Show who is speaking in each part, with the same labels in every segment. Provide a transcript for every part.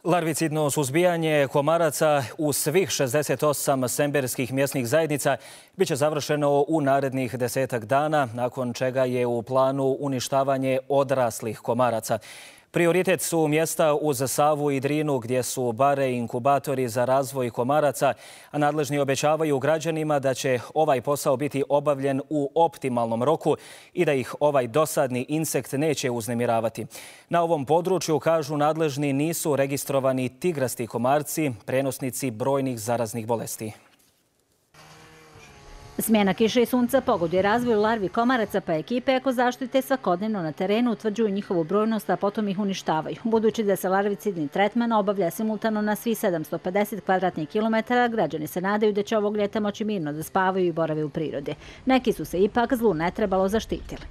Speaker 1: Larvicidno suzbijanje komaraca u svih 68 semberskih mjesnih zajednica biće završeno u narednih 10 dana, nakon čega je u planu uništavanje odraslih komaraca. Prioritet su mjesta uz Savu i Drinu gdje su bare inkubatori za razvoj komaraca, a nadležni obećavaju građanima da će ovaj posao biti obavljen u optimalnom roku i da ih ovaj dosadni insekt neće uznemiravati. Na ovom području, kažu nadležni, nisu registrovani tigrasti komarci, prenosnici brojnih zaraznih bolesti.
Speaker 2: Smjena kiše i sunca pogoduje razvoju larvi komaraca, pa ekipe ekozaštite svakodnevno na terenu utvrđuju njihovu brojnost, a potom ih uništavaju. Budući da se larvicidni tretman obavlja simultano na svih 750 kvadratnih kilometara, građani se nadaju da će ovog ljeta moći mirno da spavaju i borave u prirodi. Neki su se ipak zlu ne trebalo zaštitili.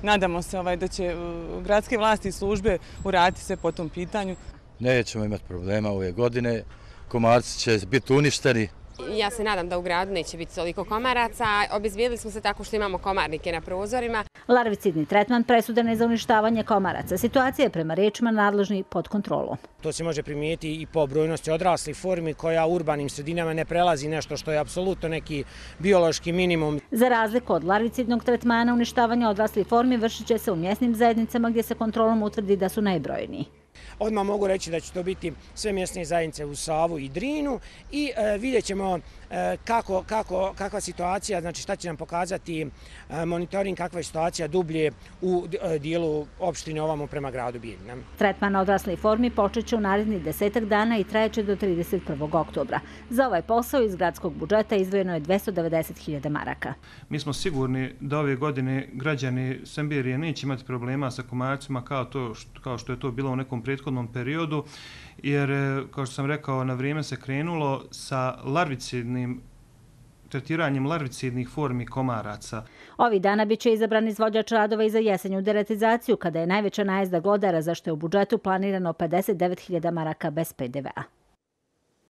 Speaker 3: Nadamo se da će gradske vlasti i službe uraditi sve po tom pitanju.
Speaker 4: Nećemo imati problema ove godine, komarci će biti uništeni.
Speaker 5: Ja se nadam da u gradu neće biti toliko komaraca. Obezbijedili smo se tako što imamo komarnike na prozorima.
Speaker 2: Larvicidni tretman presudan je za uništavanje komaraca. Situacija je prema riječima nadležni pod kontrolom.
Speaker 6: To se može primijetiti i po brojnosti odraslih formi koja u urbanim sredinama ne prelazi nešto što je apsolutno neki biološki minimum.
Speaker 2: Za razliku od larvicidnog tretmana, uništavanje odraslih formi vršit će se u mjesnim zajednicama gdje se kontrolom utvrdi da su najbrojniji.
Speaker 6: Odmah mogu reći da će to biti sve mjesne zajednice u Savu i Drinu i vidjet ćemo kakva situacija, znači šta će nam pokazati monitoring, kakva je situacija dublje u dijelu opštine ovamo prema gradu Bijeljina.
Speaker 2: Tretman odraslih formi počet će u narednih 10 dana i trajeće do 31. oktobra. Za ovaj posao iz gradskog budžeta izdvojeno je 290.000 maraka.
Speaker 7: Mi smo sigurni da ove godine građani Semberije neće imati problema sa komarcima kao što je to bilo u nekom prethodnom periodu, jer, kao što sam rekao, na vrijeme se krenulo sa tretiranjem larvicidnih formi komaraca.
Speaker 2: Ovih dana biće izabran izvođač radova i za jesenju deratizaciju, kada je najveća najezda glodara, za što je u budžetu planirano 59.000 maraka bez PDV-a.